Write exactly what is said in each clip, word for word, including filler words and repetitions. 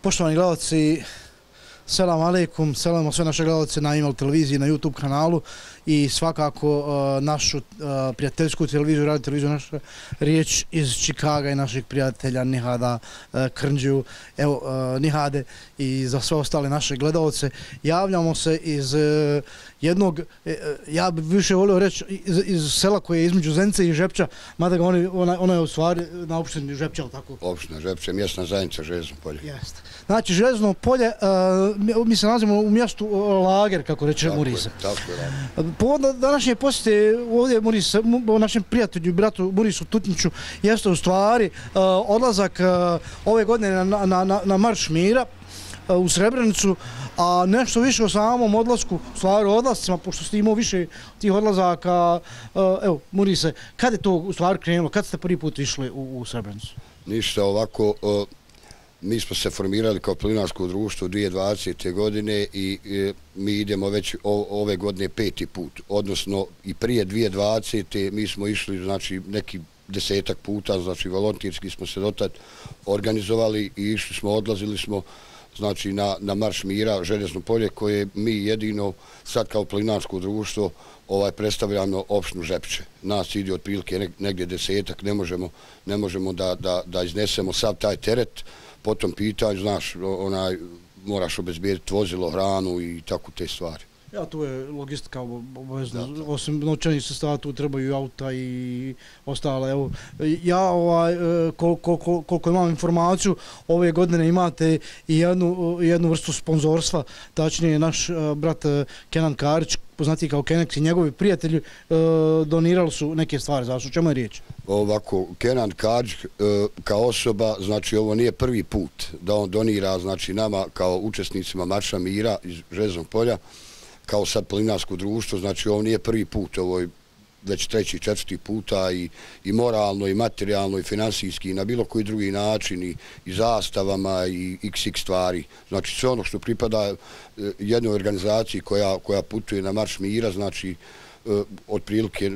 Poštovani gledalci, selam aleikum, selam sve naše gledalce na Email televiziji, na YouTube kanalu i svakako uh, našu uh, prijateljsku televiziju, radio televiziju naša riječ iz Čikaga i naših prijatelja Nihada uh, Krndžiju, evo uh, Nihade i za sve ostale naše gledalce. Javljamo se iz uh, jednog, uh, ja bih više volio reći iz, iz sela koje je između Zence i Žepča, mada ga oni, ona, ona je u stvari na opštini Žepča, ali tako? Opština Žepča, mjesna zajednica Željezno polje. Jeste. Znači, Željezno polje, uh, mi se nalazimo u mjestu uh, Lager, kako reče Murise. Tako je. Povod današnje posjete ovdje Murise, u našem prijatelju i bratu Murisu Tutniću jeste u stvari uh, odlazak uh, ove godine na, na, na, na Marš mira uh, u Srebrenicu, a nešto više o samom odlasku, u stvari odlascima, pošto ste imao više tih odlazaka, uh, evo Murise, kad je to u stvari krenulo, kad ste prvi put išli u, u Srebrenicu? Ništa, ovako, uh, mi smo se formirali kao planinarsko društvo dvije tisuće dvadesete godine i e, mi idemo već o, ove godine peti put, odnosno i prije dvije tisuće dvadesete mi smo išli znači neki desetak puta, znači volontirski smo se dotad organizovali i išli smo, odlazili smo znači na, na Marš mira Željezno polje koje mi jedino sad kao planinarsko društvo ovaj predstavljamo opštinu Žepče. Nas ide otprilike negdje desetak, ne možemo, ne možemo da, da, da iznesemo sav taj teret. Po tom pitanju, znaš, onaj, moraš obezbijediti vozilo, hranu i tako te stvari. Ja, tu je logistika obavezna, osim novčanih sredstava tu trebaju auta i ostale. Evo, ja, ovaj, koliko, koliko, koliko imam informaciju, ove godine imate i jednu, jednu vrstu sponzorstva, tačnije naš brat Kenan Karić, poznati kao Kenex i njegovi prijatelji donirali su neke stvari. Zašto? O čemu je riječ? Ovako, Kenan Karić kao osoba, znači ovo nije prvi put da on donira znači nama kao učesnicima Marša mira iz Željeznog polja, kao sad planinarsko društvo, znači ovo nije prvi put, ovo je već treći, četvrti puta i, i moralno, i materijalno, i finansijski, i na bilo koji drugi način, i, i zastavama, i iks iks stvari. Znači sve ono što pripada jednoj organizaciji koja, koja putuje na Marš mira, znači otprilike,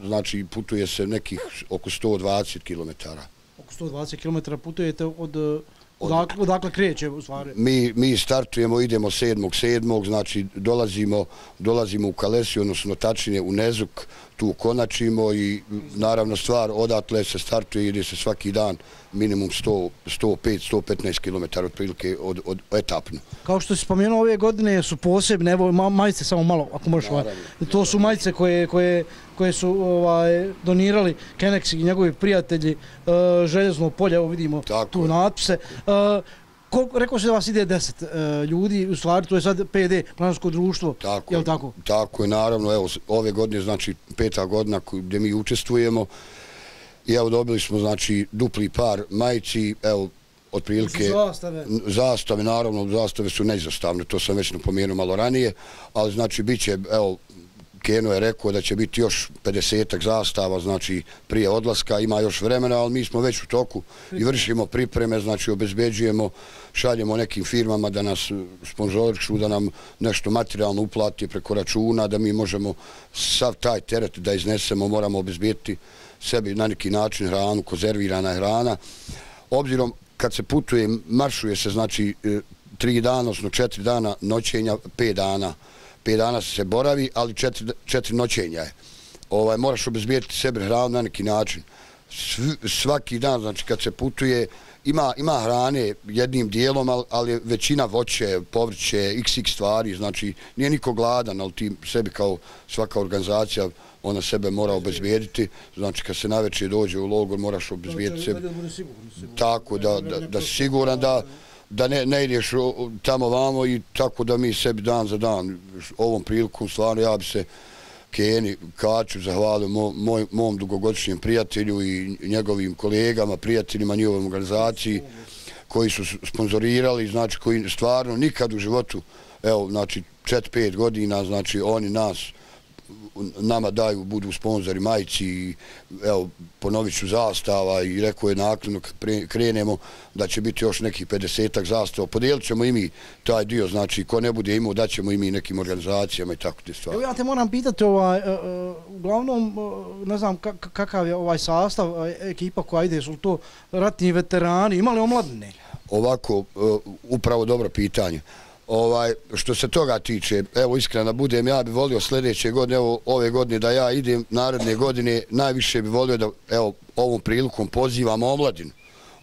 znači putuje se nekih oko sto dvadeset kilometara. Oko sto dvadeset kilometara putujete od... Odakle, odakle kreće u stvari? Mi, mi startujemo, idemo sedmog sedmog znači dolazimo, dolazimo u Kalesiju, odnosno tačnije u Nezuk, tu konačimo i naravno stvar odatle se startuje, ide se svaki dan minimum sto pet do sto petnaest kilometara otprilike od, od etapno. Kao što si spomenuo, ove godine su posebne, evo majice samo malo, ako možeš, ovaj, to su majice koje, koje, koje su ovaj, donirali Kenex i njegovi prijatelji uh, Željezno polje, evo vidimo tako tu natpise. Uh, Koliko, rekao se da vas ide deset uh, ljudi, u stvari to je sad P D, planinarsko društvo, tako, je li tako? Tako je, naravno, evo, ove godine, znači peta godina gdje mi učestvujemo i evo dobili smo, znači, dupli par majici, evo, otprilike... Zastave. Zastave, naravno, zastave su neizostavne, to sam već napomenuo malo ranije, ali znači bit će, evo, Keno je rekao da će biti još pedesetak zastava, znači prije odlaska, ima još vremena, ali mi smo već u toku i vršimo pripreme, znači obezbeđujemo, šaljemo nekim firmama da nas sponzorišu, da nam nešto materijalno uplati preko računa, da mi možemo sav taj teret da iznesemo, moramo obezbijeti sebi na neki način hranu, konzervirana hrana. Obzirom kad se putuje, maršuje se znači tri dana, odnosno četiri dana noćenja, pet dana. Pet dana se boravi, ali četiri, četiri noćenja je. Ovaj, moraš obezbijeti sebi hranu na neki način. Sv, svaki dan, znači kad se putuje, ima, ima hrane jednim dijelom, ali, ali većina voće, povrće, iks iks stvari, znači nije niko gladan, ali ti sebi kao svaka organizacija, ona sebe mora obezbijediti, znači kad se navečer dođe u logor, moraš obezbijediti sebi. Tako, da, da, da si siguran da da ne, ne ideš tamo vamo i tako da mi sebi dan za dan ovom prilikom stvarno ja bi se Keni Kaču zahvalio mo, moj, mom dugogodišnjem prijatelju i njegovim kolegama, prijateljima njihovoj organizaciji koji su sponzorirali, znači koji stvarno nikad u životu, evo znači četiri pet godina, znači oni nas nama daju, budu sponzori majici i evo, ponovit ću zastava i rekao je nakon kad krenemo da će biti još nekih pedesetak zastava. Podijelit ćemo i mi taj dio, znači ko ne bude imao daćemo i mi nekim organizacijama i tako te stvari. Evo ja te moram pitati, ovaj, uglavnom ne znam kakav je ovaj sastav, ekipa koja ide, su to ratni veterani, ima li omladine? ovako, upravo dobro pitanje. Ovaj, što se toga tiče, evo iskreno da budem, ja bih volio sljedeće godine, evo ove godine da ja idem, naredne godine, najviše bih volio da, evo, ovom prilikom pozivam omladinu.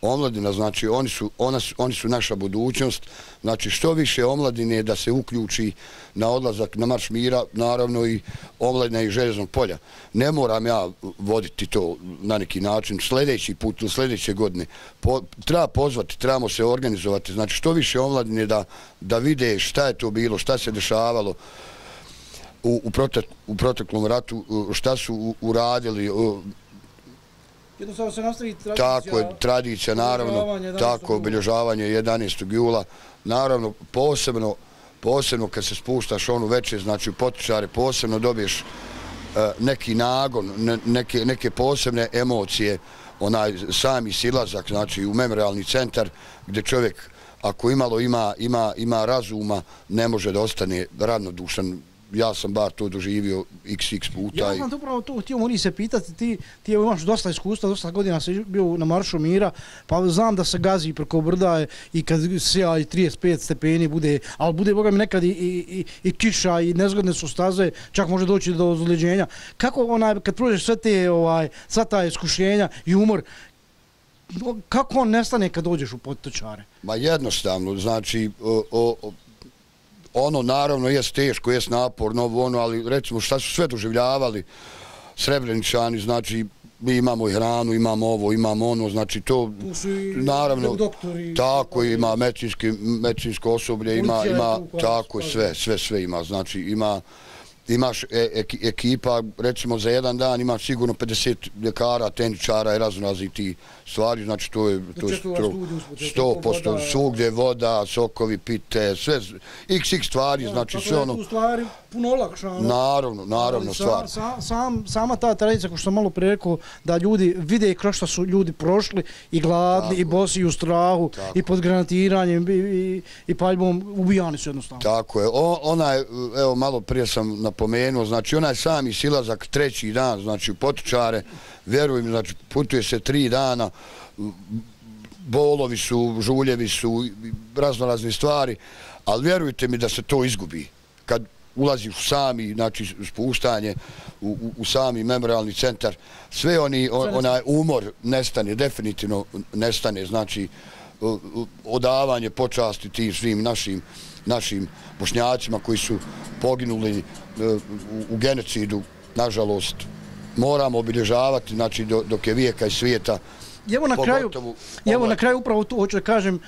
Omladina, znači, oni su, ona su, oni su naša budućnost, znači, što više omladine da se uključi na odlazak na Marš mira, naravno i omladina i Željeznog polja. Ne moram ja voditi to na neki način, sljedeći put ili sljedeće godine. Po, treba pozvati, trebamo se organizovati, znači, što više omladine da, da vide šta je to bilo, šta se dešavalo u, u, protek, u proteklom ratu, šta su uradili, jednostavno se nastavi tradicija. Tako je, tradicija, naravno, tako, obilježavanje jedanaestog jula. Naravno, posebno, posebno kad se spuštaš onu večer, znači u Potočare, posebno dobiješ neki nagon, neke, neke posebne emocije, onaj sami silazak, znači u memorialni centar, gdje čovjek, ako imalo ima, ima, ima razuma, ne može da ostane ravnodušan. Ja sam bar to doživio iks iks puta. Ja znam upravo to, htio mori se pitati, ti, ti imaš dosta iskustva, dosta godina si bio na Maršu mira, pa znam da se gazi preko brda i kad sija i trideset pet stepeni bude, ali bude, boga mi, nekad i, i, i kiša i nezgodne su staze, čak može doći do ozljeđenja. Kako onaj, kad prođeš sve te, ovaj, sva ta iskušenja i umor, kako on nestane kad dođeš u Potočare? Ma jednostavno, znači, o, o, ono naravno jest teško, jest naporno, ono, ali recimo šta su sve doživljavali Srebreničani, znači mi imamo i hranu, imamo ovo, imamo ono, znači to, naravno, doktori, tako ima medicinsko osoblje, ima, ima, tako sve, sve, sve ima, znači ima, imaš ekipa, recimo za jedan dan imaš sigurno pedeset ljekara, tehničara i raznoraznih ti stvari, znači to je sto posto svugdje, voda, sokovi, pite, sve, iks iks stvari, znači sve ono. Tako je tu stvari puno olakšano. Naravno, naravno stvar. Sama ta tradicija, ko što sam malo prije rekao, da ljudi vide kroz što su ljudi prošli i gladni, i bosi, i u strahu, i pod granatiranjem, i paljbom, ubijani su jednostavno. Tako je, onaj, evo malo prije sam napomenuo, znači onaj sami silazak treći dan, znači u Potočare, vjerujem, znači putuje se tri dana, bolovi su, žuljevi su, raznorazne stvari, ali vjerujte mi da se to izgubi. Kad ulaziš u sami, znači spuštanje, u, u, u sami memorialni centar, sve oni, on, onaj umor nestane, definitivno nestane, znači odavanje počasti tim svim našim, našim Bošnjacima koji su poginuli u, u genocidu, nažalost, moramo obilježavati, znači dok je vijeka i svijeta. Evo na kraju, evo na kraju upravo tu hoću da kažem,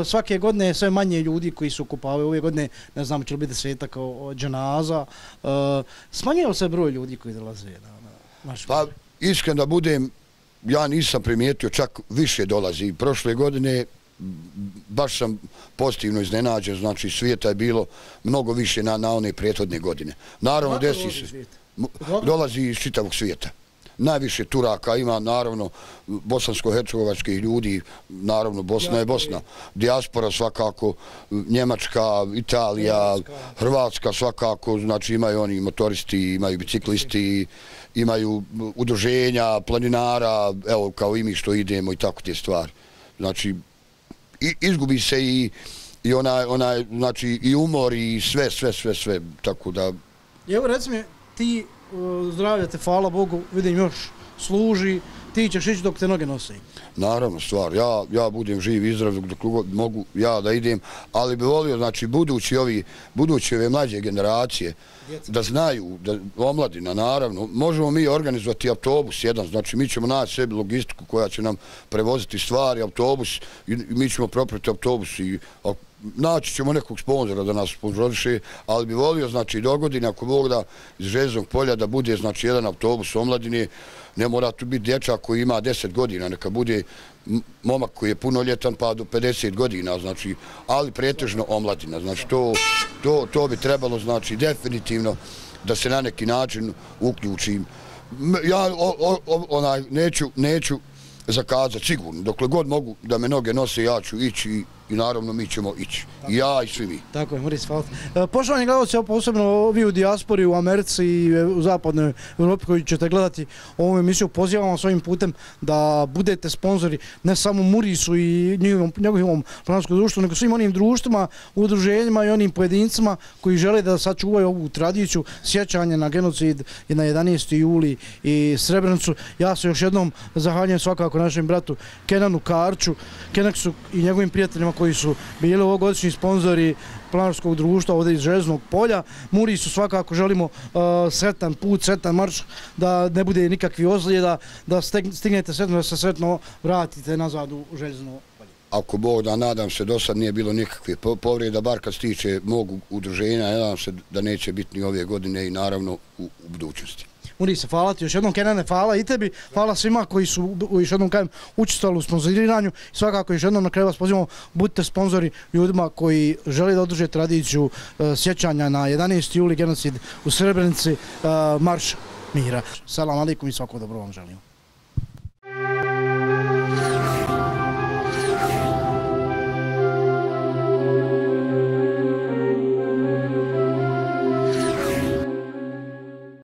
svake godine je sve manje ljudi koji su okupavaju, ove godine ne znam će li biti desetak kao dženaza, smanjio se broj ljudi koji dolaze na naš. Pa iskreno da budem, ja nisam primijetio, čak više dolazi. Prošle godine baš sam pozitivno iznenađen, znači svijeta je bilo mnogo više na, na one prethodne godine. Naravno, desi se. Dolazi iz čitavog svijeta. Najviše Turaka ima, naravno, bosansko-hercegovačkih ljudi, naravno, Bosna je Bosna. Dijaspora svakako, Njemačka, Italija, Hrvatska svakako, znači imaju oni motoristi, imaju biciklisti, imaju udruženja, planinara, evo kao i mi što idemo i tako te stvari. Znači, izgubi se i, i onaj, onaj, znači i umor i sve, sve, sve, sve, tako da... Evo reci mi, ti zdravlja te, hvala Bogu, vidim još služi, ti ćeš ići dok te noge nose. Naravno, stvar, ja, ja budem živ i zdrav dok mogu ja da idem, ali bi volio, znači, budući ovi, budući ove mlađe generacije, Djeca. Da znaju, da omladina, naravno, možemo mi organizovati autobus jedan, znači mi ćemo naći sebi logistiku koja će nam prevoziti stvari, autobus, i mi ćemo proprati autobus i naći ćemo nekog sponzora da nas sponzoriše, ali bi volio, znači, dogodine, ako Bog da iz Željeznog polja da bude, znači, jedan autobus omladine, ne mora tu biti dječak koji ima deset godina, neka bude momak koji je punoljetan pa do pedeset godina, znači, ali pretežno omladina, znači, to, to, to bi trebalo, znači, definitivno da se na neki način uključim. Ja o, o, onaj, neću, neću zakazati, sigurno, dokle god mogu da me noge nose, ja ću ići i naravno mi ćemo ići. I ja i svi mi. Tako je, Moris, hvala. Poštovani gledalci, posebno vi u dijaspori, u Americi i u zapadnoj Europi koji ćete gledati ovu emisiju, pozivam vas ovim putem da budete sponzori ne samo Murisu i njegovom planarskom društvu, nego svim onim društvima, udruženjima i onim pojedincima koji žele da sačuvaju ovu tradiciju sjećanja na genocid i na jedanaesti juli i Srebrenicu. Ja se još jednom zahvaljujem svakako našem bratu Kenanu Karču, Kenaksu i njegovim prijateljima koji su bili ovogodišnji sponzori planarskog društva ovdje iz Železnog polja. Murisu svakako želimo uh, sretan put, sretan marš, da ne bude nikakvih ozljeda, da stignete sretno, da se sretno vratite nazad u Železno polje. Ako Bog da, nadam se, do sad nije bilo nikakve povreda, bar kad se tiče mog udruženja, nadam se da neće biti ni ove godine i naravno u, u budućnosti. Murise, hvala ti još jednom, Kenane, hvala i tebi, hvala svima koji su još jednom kajem učestvovali u sponzoriranju. Svakako još jednom na kraju vas pozivamo, budite sponzori ljudima koji žele da održe tradiciju uh, sjećanja na jedanaesti juli genocid u Srebrenici, uh, marš mira. Selam alejkum i svako dobro vam želim.